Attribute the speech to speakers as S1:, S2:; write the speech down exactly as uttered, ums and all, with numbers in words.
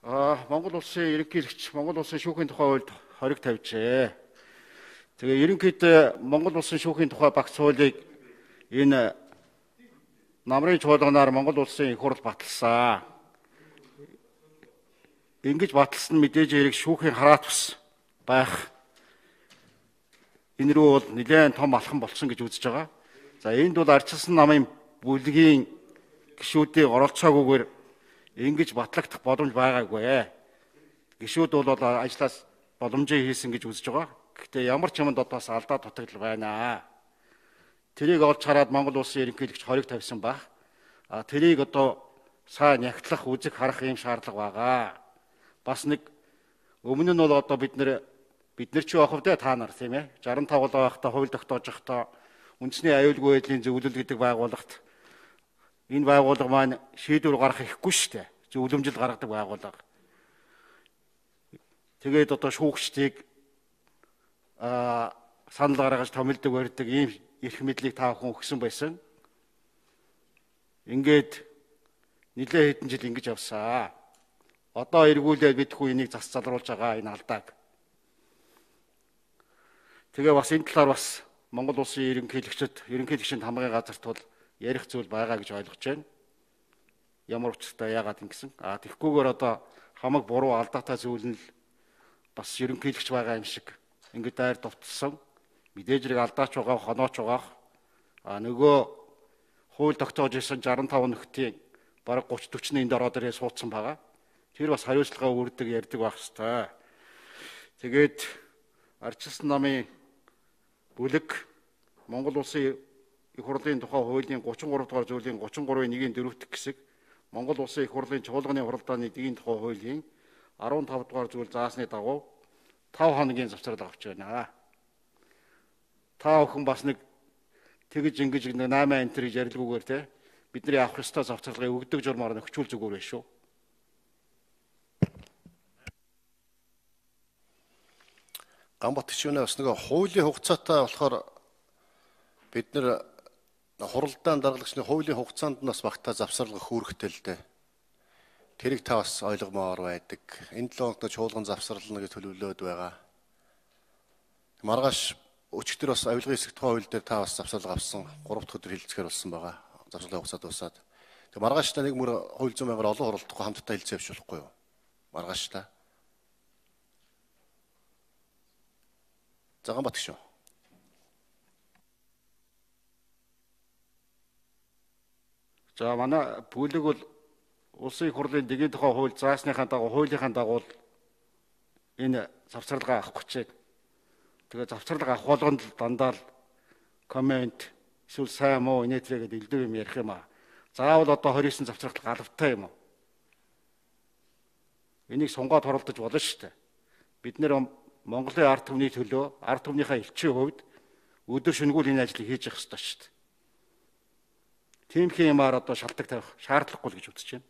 S1: Аа, Монгол улсын ерөнхийлөгч Монгол улсын шүүхийн тухай хуульд хориг тавьжээ. Тэгээ ерөнхийдөө Монгол улсын шүүхийн тухай багц хуулийг энэ намрын чуулганаар Монгол улсын их хурл баталсан. Ингэж баталсан мэдээж хэрэг шүүхийн хараат бас байх. Энэ рүү бол нэлээд том алхам болсон гэж үзэж байгаа. За энд бол ардчилсан намын бүлгийн гишүүдийн оролцоогүйгээр ингэж батлагдах боломж байгаагүй. Гишүүд бол ажлаас боломжийг хийсэн гэж үзэж байгаа. Гэхдээ ямар ч юмд одоо бас алдаа дутагдал байна. Тэрийг олж хараад Монгол улсын ерөнхийлөгч хориг тавьсан баг. А тэрийг одоо сайн нягтлах, үзэх, харах юм шаардлага байгаа. Бас нэг өмнө нь бол одоо бид нэр бид нар ч явах вэ та нар тийм ээ шестдесет и пять байхдаа хууль тогтоож байхдаа үндэсний аюулгүй байдлын зөвлөл гэдэг байгууллагт энэ байгууллага маань шийдвэр гаргах ихгүй шүү дээ. Зөвлөмжил гаргадаг байгууллага. Тэгээд одоо шүүгчдийг аа санал гаргаж томилдог барьдаг ийм эрх мэдлийг та бүхэн өгсөн байсан. Ингээд нэлээд хэдэн жил ингэж явсаа. Одоо эргүүлээд бидхүү энийг зас залруулж байгаа энэ алдааг. Тэгээ бас энэ талаар бас Монгол улсын ерөнхийлөгчд, ерөнхийлөгчийн хамгааллын газарт бол ярих зүйл байгаа гэж ойлгож байна. Ямар учиртай яагаад ингэсэн? А тэгхгүйгээр одоо хамаг буруу алдаатай зүйл нь бас ерөнхийлөгч байгаа юм шиг ингээд дайр довтолсон. Мэдээж хэрэг алдаач байгаа, хонооч байгаа. А нөгөө хууль тогтоож исэн шестдесет и пять нөхдийн бараг тридцать40-ны энд ороод ирээ суудсан байгаа. Тэр бас хариуцлага өрдөг ярьдаг байх хэвээр. Тэгээд ардчилсан намын бүлэг Монгол улсын их хурлын тухай хуулийн тридцать и три дугаар зүйлийн тридцать и три-ийн нэг-ийн дөрөвт хэсэг Монгол улсын их хурлын чуулганы хуралдааны эдийн тухай хуулийн15 дугаар зүйл заасны дагуу пет хоногийн завсрал авч байна. Та бүхэн бас нэг тэгж ингэж нэг наймаа энтер гэж ярилгүйгээр те бидний авах ёстой завсралгыг өгдөг журмаар нөхчүүл зүгээр байх шүү.
S2: Гамбат гишүүнээс нэг хуулийн хугацаатай болохоор бид нэр хуралдаан даргалагчны хуулийн хугацаанд нас багтаа завсарлага хүүрэхтэй л дээ. Тэрийг та бас ойлгомоор байдаг. Энэ долоо хоногт чуулган завсарлана гэж төлөвлөөд байгаа. Маргааш өчигдөр бас авилгын хэсэг тухай хууль дээр та бас завсарлага авсан. гурав дахь өдөр хилцэхээр болсон байгаа. Завсарлага хугацаа дуусаад. Тэг маргааш та нэг мөр хууль зүйн байгаар олон хуралдахгүй хамтдаа хилцээ явуулахгүй юу? Маргааш та. Заган бат шүү.
S1: За манай бүлэг бол улсын их хурлын дэгийн тухай хууль заасныхаа дагуу хуулийнхаа дагуу энэ завсралгаа авах гэж байна. Тэгээ завсралгаа авах болгонд дандаа л коммент эсвэл сайн муу инээдлээ гэдэг элдв юм ярих юм аа. Заавал одоо двадцать девять завсралт галавтай юм уу? Энийг сунгаад хуралдаж болно шүү дээ. Бид нэр Монголын ард түмний төлөө, ард түмнийхээ элчийн хувьд өдөр шөнөгүй энэ ажлыг хийж явах ёстой шүү дээ. Тиймхэн юмар одоо шалтгаан тавих шаардлагагүй л гэж үзэж байна.